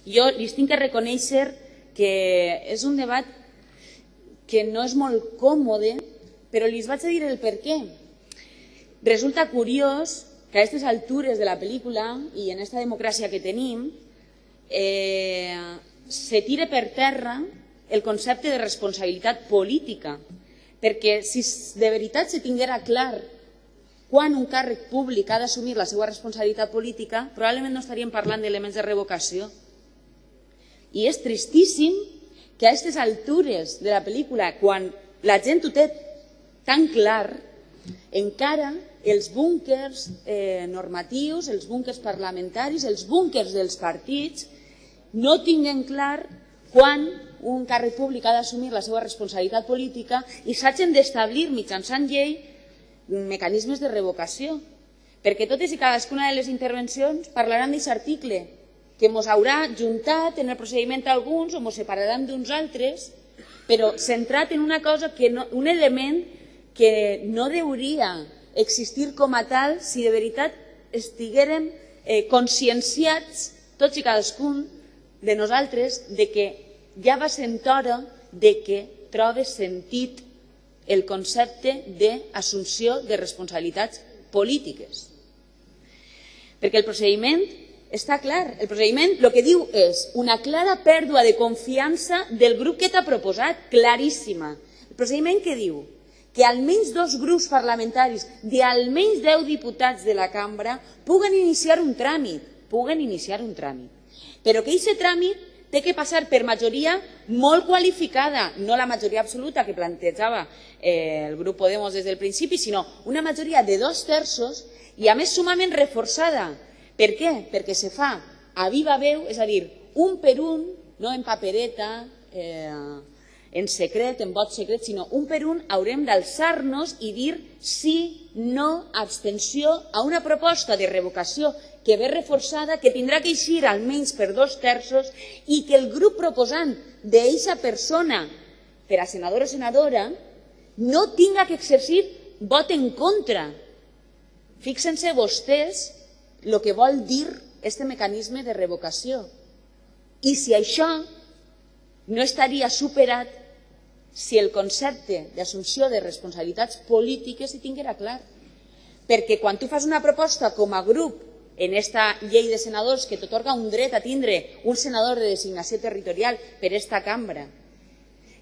Jo li tinc que reconèixer que és un debat que no és molt còmode, però li vaig a dir el per què. Resulta curiós que a aquestes altures de la pel·lícula i en aquesta democràcia que tenim se tire per terra el concepte de responsabilitat política, perquè si de veritat se tinguera clar quan un càrrec públic ha d'assumir la seva responsabilitat política, probablement no estaríem parlant d'elements de revocació. I és tristíssim que a aquestes altures de la pel·lícula, quan la gent ho té tan clar, encara els búnquers normatius, els búnquers parlamentaris, els búnquers dels partits, no tinguen clar quan un càrrec públic ha d'assumir la seva responsabilitat política i s'hagin d'establir mitjançant llei mecanismes de revocació. Perquè totes i cadascuna de les intervencions parlaran d'aquest article, que ens haurà juntat en el procediment alguns o ens separaran d'uns altres, però centrat en una cosa, un element que no hauria existir com a tal si de veritat estiguérem conscienciats tots i cadascun de nosaltres de que ja va sent hora de que trobe sentit el concepte d'assumpció de responsabilitats polítiques. Perquè el procediment està clar. El procediment el que diu és una clara pèrdua de confiança del grup que t'ha proposat, claríssima. El procediment que diu que almenys 2 grups parlamentaris d'almenys 10 diputats de la cambra puguen iniciar un tràmit, però que aquest tràmit té que passar per majoria molt qualificada, no la majoria absoluta que plantejava el grup Podemos des del principi, sinó una majoria de 2/3 i a més sumament reforçada. Per què? Perquè se fa a viva veu, és a dir, un per un, no en papereta, en secret, en vot secret, sinó un per un haurem d'alçar-nos i dir sí, no, abstenció a una proposta de revocació que ve reforçada, que tindrà que eixir almenys per 2/3 i que el grup proposant d'aquesta persona per a senador o senadora no tinga que exercir vot en contra. Fixen-se vostès el que vol dir aquest mecanisme de revocació. I si això no estaria superat si el concepte d'assumpció de responsabilitats polítiques s'hi tinguera clar. Perquè quan tu fas una proposta com a grup en aquesta llei de senadors que t'atorga un dret a tindre un senador de designació territorial per esta cambra,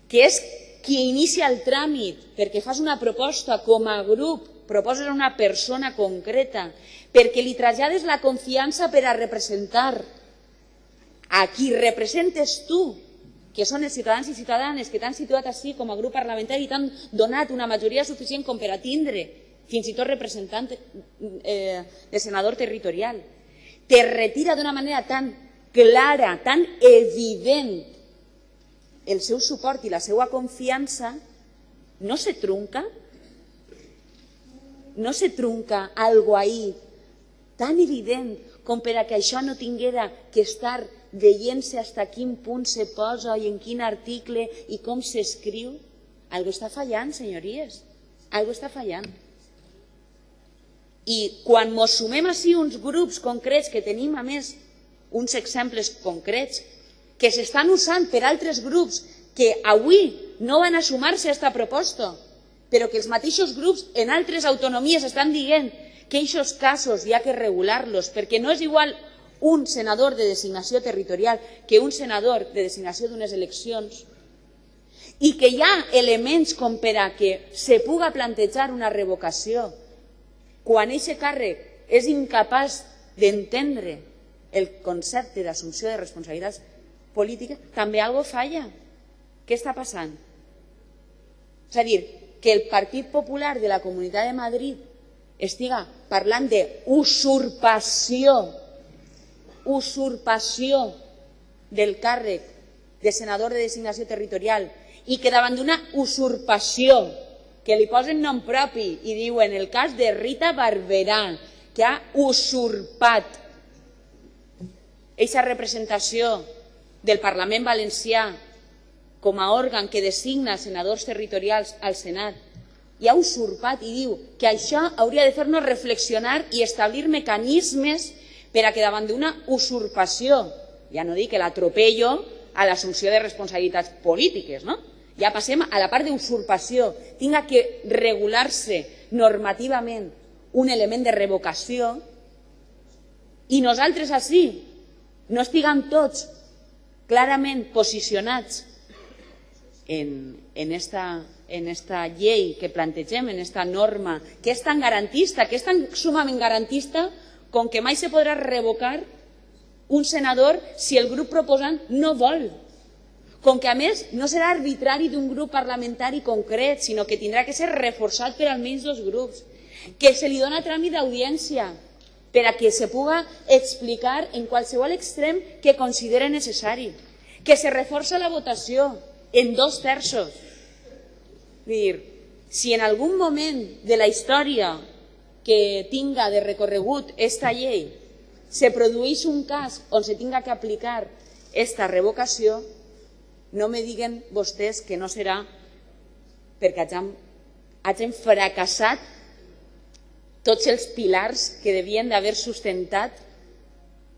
que és qui inicia el tràmit perquè fas una proposta com a grup, proposes a una persona concreta, perquè li trasllades la confiança per a representar a qui representes tu, que són els ciutadans i ciutadanes que t'han situat així com a grup parlamentari i t'han donat una majoria suficient com per a tindre fins i tot representant de senador territorial, te retira d'una manera tan clara, tan evident el seu suport i la seva confiança, no se trunca? No se trunca algo ahí tan evident com per a que això no tinguera que estar veient-se fins a quin punt se posa i en quin article i com s'escriu? Algo està fallant, senyories, algo està fallant. I quan ens sumem així uns grups concrets que tenim, a més, uns exemples concrets que s'estan usant per altres grups que avui no van a sumar-se a aquesta proposta, però que els mateixos grups en altres autonomies estan dient que aquests casos hi ha que regular-los, perquè no és igual un senador de designació territorial que un senador de designació d'unes eleccions, i que hi ha elements com per a que se puga plantejar una revocació quan aquest càrrec és incapaç d'entendre el concepte d'assumpció de responsabilitats polítiques, també alguna cosa falla. Què està passant? És a dir, que el Partit Popular de la Comunitat de Madrid estiga parlant d'usurpació del càrrec de senador de designació territorial i que davant d'una usurpació que li posen nom propi i diuen el cas de Rita Barberà, que ha usurpat aquesta representació del Parlament Valencià com a òrgan que designa senadors territorials al Senat, i ha usurpat i diu que això hauria de fer-nos reflexionar i establir mecanismes per a que davant d'una usurpació ja no dic l'atropello a l'assumpció de responsabilitats polítiques, no? Ja passem a la part d'usurpació, tinga que regular-se normativament un element de revocació i nosaltres així no estiguem tots clarament posicionats en esta llei que plantegem, en esta norma, que és tan garantista, que és tan sumament garantista com que mai se podrà revocar un senador si el grup proposant no vol. Com que, a més, no serà arbitrari d'un grup parlamentari concret, sinó que tindrà que ser reforçat per almenys dos grups, que se li dona tràmit d'audiència per a que se puga explicar en qualsevol extrem que considere necessari, que se reforça la votació en 2 terços. Vull dir, si en algun moment de la història que tinga de recorregut esta llei se produeix un cas on se tinga que aplicar esta revocació, no me diguen vostès que no serà perquè hagin fracassat tots els pilars que devien d'haver sustentat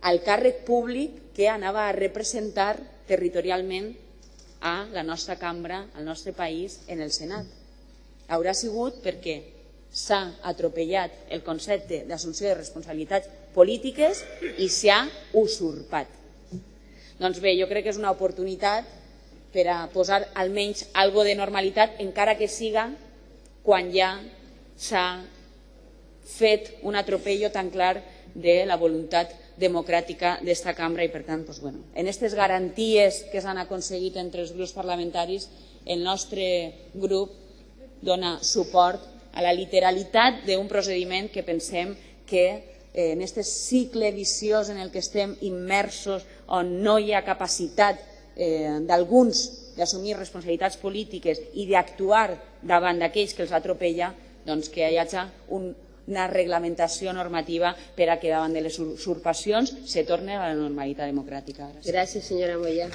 el càrrec públic que anava a representar territorialment a la nostra cambra, al nostre país, en el Senat. Haurà sigut perquè s'ha atropellat el concepte d'assumpció de responsabilitats polítiques i s'ha usurpat. Doncs bé, jo crec que és una oportunitat per a posar almenys algo de normalitat, encara que siga quan ja s'ha fet un atropello tan clar de la voluntat democràtica d'esta cambra i, per tant, en aquestes garanties que s'han aconseguit entre els grups parlamentaris, el nostre grup dona suport a la literalitat d'un procediment que pensem que en aquest cicle viciós en el que estem immersos, on no hi ha capacitat d'alguns d'assumir responsabilitats polítiques i d'actuar davant d'aquells que els atropella, doncs que hi hagi una reglamentació normativa per a que davant de les usurpacions se torni a la normalitat democràtica. Gràcies, senyora Moya.